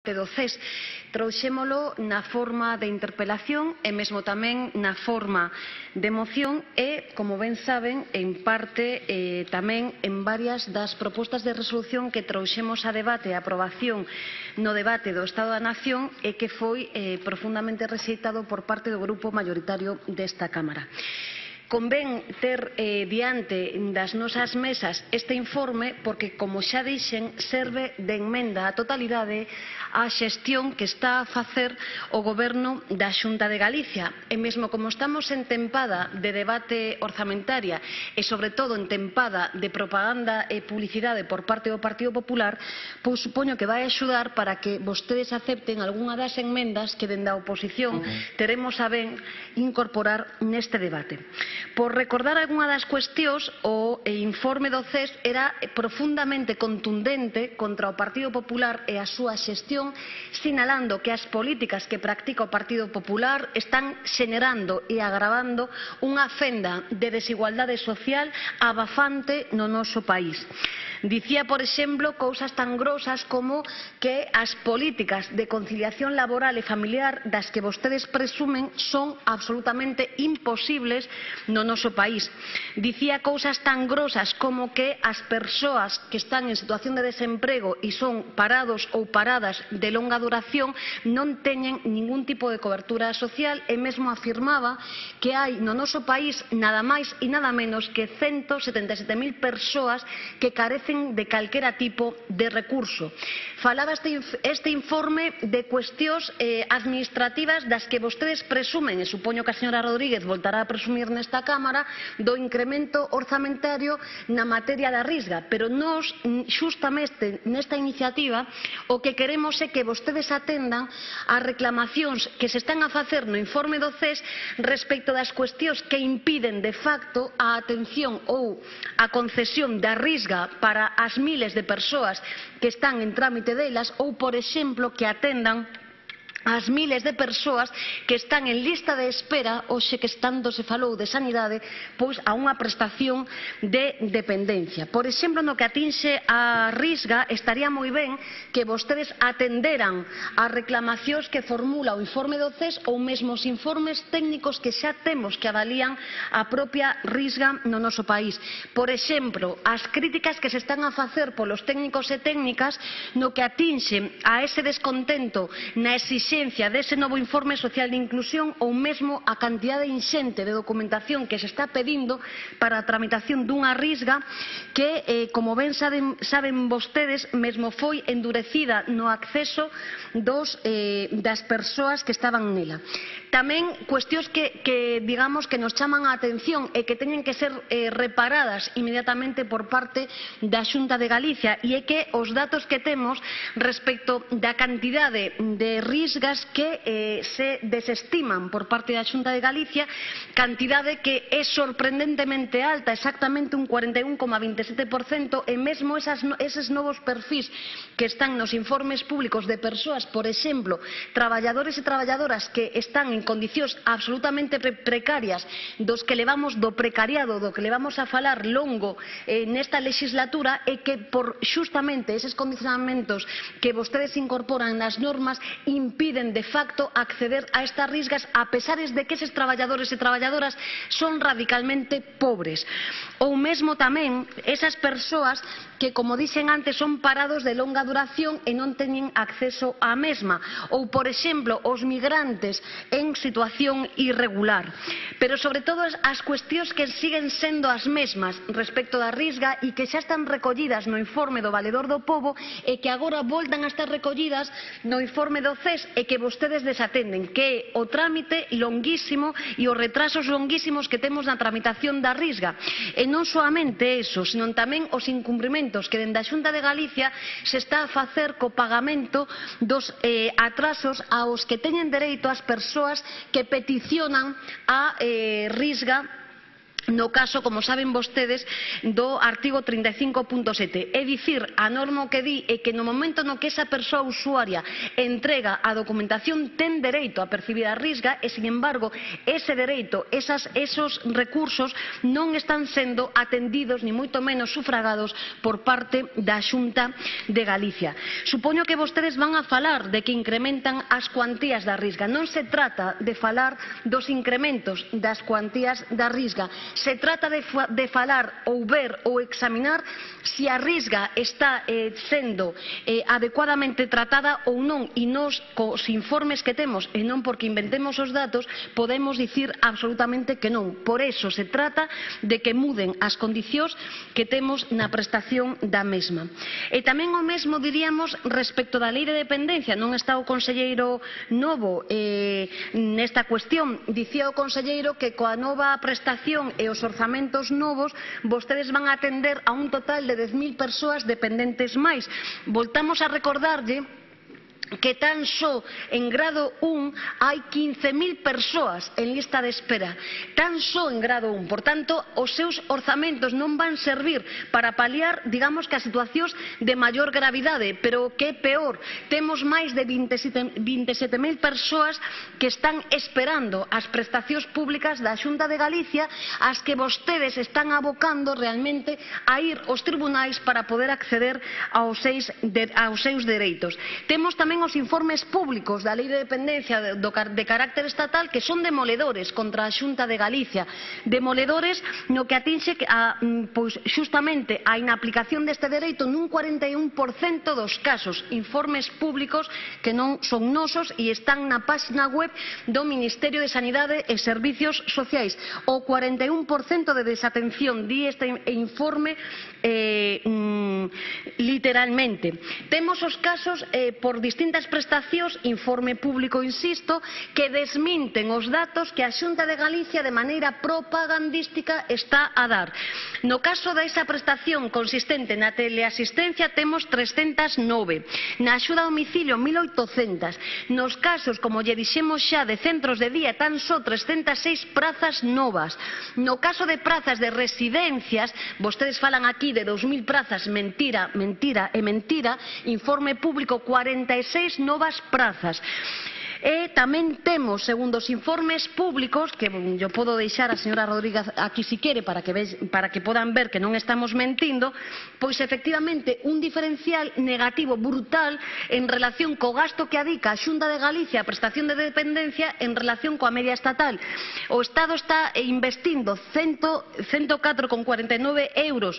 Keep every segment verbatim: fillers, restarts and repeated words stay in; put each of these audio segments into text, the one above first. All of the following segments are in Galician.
do C E S trouxémolo na forma de interpelación e mesmo tamén na forma de moción e, como ben saben, en parte eh, tamén en varias das propostas de resolución que trouxemos a debate e a aprobación no debate do Estado da Nación e que foi eh, profundamente rexeitado por parte do grupo maioritario desta Cámara. Convén ter eh, diante das nosas mesas este informe porque, como xa dixen, serve de emenda á totalidade á xestión que está a facer o Goberno da Xunta de Galicia. E mesmo como estamos en tempada de debate orzamentaria e, sobre todo, en tempada de propaganda e publicidade por parte do Partido Popular, pois supoño que vai axudar para que vostedes acepten algunha das enmendas que dende a oposición teremos a ben incorporar neste debate. Por recordar algunha das cuestións, o informe do C E S era profundamente contundente contra o Partido Popular e a súa xestión, sinalando que as políticas que practica o Partido Popular están xenerando e agravando unha fenda de desigualdade social abafante no noso país. Dicía, por exemplo, cousas tan grosas como que as políticas de conciliación laboral e familiar das que vostedes presumen son absolutamente imposibles no noso país. Dicía cousas tan grosas como que as persoas que están en situación de desemprego e son parados ou paradas de longa duración non teñen ningún tipo de cobertura social e mesmo afirmaba que hai no noso país nada máis e nada menos que ciento setenta e sete mil persoas que carecen de calquera tipo de recurso. Falaba este, este informe de cuestións eh, administrativas das que vostedes presumen, e supoño que a señora Rodríguez voltará a presumir nesta Cámara, do incremento orzamentario na materia da Risga, pero nós, xustamente nesta iniciativa, o que queremos é que vostedes atendan as reclamacións que se están a facer no informe do C E S respecto das cuestións que impiden de facto a atención ou a concesión da Risga para as miles de persoas que están en trámite delas ou, por exemplo, que atendan as miles de persoas que están en lista de espera, hoxe que tanto se falou de sanidade, pois a unha prestación de dependencia. Por exemplo, no que atinxe a Risga, estaría moi ben que vostedes atenderan as reclamacións que formula o informe do C E S ou mesmo os informes técnicos que xa temos que avalían a propia Risga no noso país. Por exemplo, as críticas que se están a facer polos técnicos e técnicas no que atinxe a ese descontento na exigencia dese novo informe social de inclusión ou mesmo a cantidade inxente de documentación que se está pedindo para a tramitación dunha Risga que, eh, como ben saben, saben vostedes, mesmo foi endurecida no acceso dos, eh, das persoas que estaban nela. Tamén cuestións que, que, digamos, que nos chaman a atención e que teñen que ser eh, reparadas inmediatamente por parte da Xunta de Galicia, e é que os datos que temos respecto da cantidade de Risgas que eh, se desestiman por parte da Xunta de Galicia, cantidade que é sorprendentemente alta, exactamente un cuarenta e un coma veinte e sete por cento, e mesmo esas, eses novos perfis que están nos informes públicos de persoas, por exemplo, traballadores e traballadoras que están en condicións absolutamente pre precarias, dos que levamos do precariado, do que levamos a falar longo eh, nesta legislatura, e que por xustamente eses condicionamentos que vostedes incorporan nas normas impiden de facto acceder a estas Risgas, a pesares de que eses traballadores e traballadoras son radicalmente pobres. Ou mesmo tamén esas persoas que, como dixen antes, son parados de longa duración e non teñen acceso á mesma. Ou, por exemplo, os migrantes en situación irregular. Pero, sobre todo, as cuestións que siguen sendo as mesmas respecto da Risga e que xa están recollidas no informe do Valedor do Pobo e que agora voltan a estar recollidas no informe do C E S e que vostedes desatenden, que é o trámite longuísimo e os retrasos longuísimos que temos na tramitación da Risga. E non soamente eso, sino tamén os incumprimentos que dende a Xunta de Galicia se está a facer co pagamento dos eh, atrasos aos que teñen dereito as persoas que peticionan a eh, Risga no caso, como saben vostedes, do artigo trinta e cinco punto sete. É dicir, a norma o que di é que no momento no que esa persoa usuaria entrega a documentación ten dereito a percibir a risga e, sin embargo, ese dereito, esas, esos recursos non están sendo atendidos ni moito menos sufragados por parte da Xunta de Galicia. Supoño que vostedes van a falar de que incrementan as cuantías da risga. Non se trata de falar dos incrementos das cuantías da risga. Se trata de, de falar ou ver ou examinar se a risga está eh, sendo eh, adecuadamente tratada ou non, e nos, cos informes que temos, e non porque inventemos os datos, podemos dicir absolutamente que non. Por eso se trata de que muden as condicións que temos na prestación da mesma. E tamén o mesmo diríamos respecto da Lei de Dependencia. Non está o conselleiro novo eh, nesta cuestión. Dicía o conselleiro que coa nova prestación e os orzamentos novos vostedes van a atender a un total de dez mil persoas dependentes máis. Voltamos a recordarlle que tan só en grado un hai quince mil persoas en lista de espera, tan só en grado un. Por tanto, os seus orzamentos non van servir para paliar, digamos, que as situacións de maior gravidade, pero que é peor, temos máis de vinte e sete mil persoas que están esperando as prestacións públicas da Xunta de Galicia, as que vostedes están abocando realmente a ir aos tribunais para poder acceder aos seus, de, aos seus dereitos. Temos tamén os informes públicos da Lei de Dependencia de, de carácter estatal que son demoledores contra a Xunta de Galicia, demoledores no que atinxe a, pois, xustamente a inaplicación deste dereito nun cuarenta e un por cento dos casos, informes públicos que non son nosos e están na página web do Ministerio de Sanidade e Servicios Sociais. O cuarenta e un por cento de desatención, di este informe eh, mm, literalmente. Temos os casos eh, por distintas prestacións, informe público, insisto, que desminten os datos que a Xunta de Galicia de maneira propagandística está a dar. No caso desa prestación consistente na teleasistencia temos trescentas e nove, na axuda a domicilio mil oitocentas, nos casos, como lle dixemos xa, de centros de día tan só trescentas e seis prazas novas. No caso de prazas de residencias, vostedes falan aquí de dous mil prazas, mentira, mentira e mentira, informe público cuarenta e seis novas prazas. E tamén temos, segundo os informes públicos, que yo podo deixar a señora Rodríguez aquí si quere para que, ve, para que podan ver que non estamos mentindo, pois efectivamente un diferencial negativo brutal en relación co gasto que adica a Xunta de Galicia a prestación de dependencia en relación coa media estatal. O Estado está investindo cento catro coma cuarenta e nove euros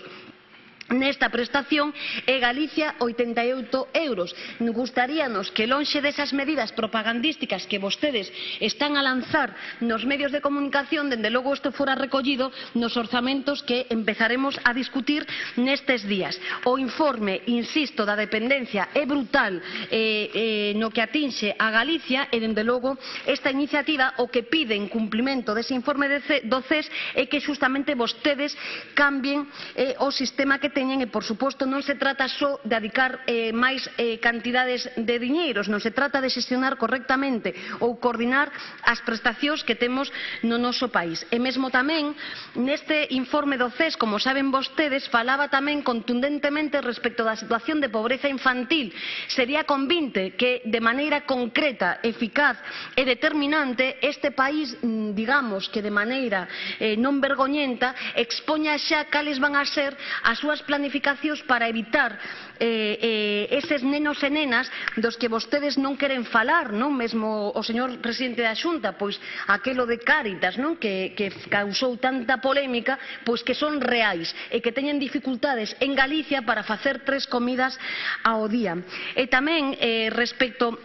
nesta prestación e Galicia oitenta e oito euros. Gustaríanos que lonxe desas medidas propagandísticas que vostedes están a lanzar nos medios de comunicación, dende logo isto fora recollido nos orzamentos que empezaremos a discutir nestes días. O informe, insisto, da dependencia é brutal eh, eh, no que atinxe a Galicia e dende logo esta iniciativa o que pide en cumplimento dese informe do C E S é que justamente vostedes cambien eh, o sistema que teñen e, por suposto, non se trata só de adicar eh, máis eh, cantidades de diñeiros, non se trata de xestionar correctamente ou coordinar as prestacións que temos no noso país. E mesmo tamén, neste informe do C E S, como saben vostedes, falaba tamén contundentemente respecto da situación de pobreza infantil. Sería convinte que, de maneira concreta, eficaz e determinante, este país, digamos que de maneira eh, non vergoñenta, expoña xa cales van a ser as súas planificacións para evitar eh, eh, eses nenos e nenas dos que vostedes non queren falar, non? Mesmo o señor presidente da Xunta, pois aquelo de Cáritas, non? Que, que causou tanta polémica, pois que son reais e que teñen dificultades en Galicia para facer tres comidas ao día. E tamén eh, respecto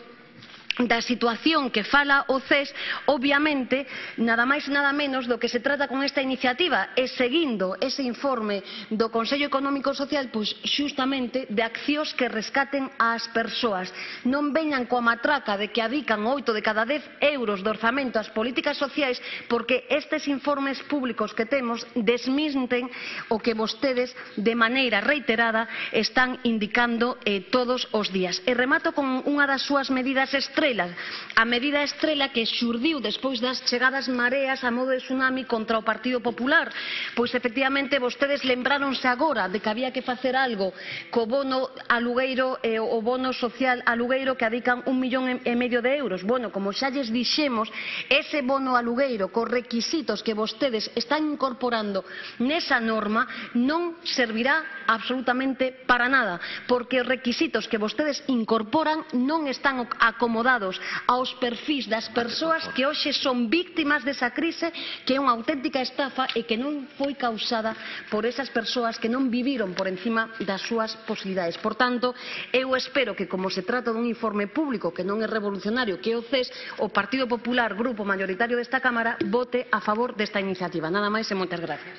da situación que fala o C E S, obviamente, nada máis nada menos do que se trata con esta iniciativa é seguindo ese informe do Consello Económico e Social, pois xustamente de accións que rescaten ás persoas. Non veñan coa matraca de que adican oito de cada dez euros de orzamento ás políticas sociais, porque estes informes públicos que temos desminten o que vostedes de maneira reiterada están indicando eh, todos os días. E remato con unha das súas medidas extremas, estrela, a medida estrela que xurdiu despois das chegadas mareas a modo de tsunami contra o Partido Popular. Pois, efectivamente, vostedes lembráronse agora de que había que facer algo co bono alugueiro e o bono social alugueiro que adican un millón e medio de euros. Bueno, como xa lles dixemos, ese bono alugueiro cos requisitos que vostedes están incorporando nesa norma non servirá absolutamente para nada, porque os requisitos que vostedes incorporan non están acomodados aos perfís das persoas que hoxe son víctimas desa crise, que é unha auténtica estafa e que non foi causada por esas persoas que non viviron por encima das súas posibilidades. Por tanto, eu espero que, como se trata dun informe público que non é revolucionario, que é o C E S, o Partido Popular, grupo maioritario desta Cámara, vote a favor desta iniciativa. Nada máis e moitas gracias.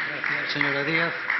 Gracias, señora Díaz.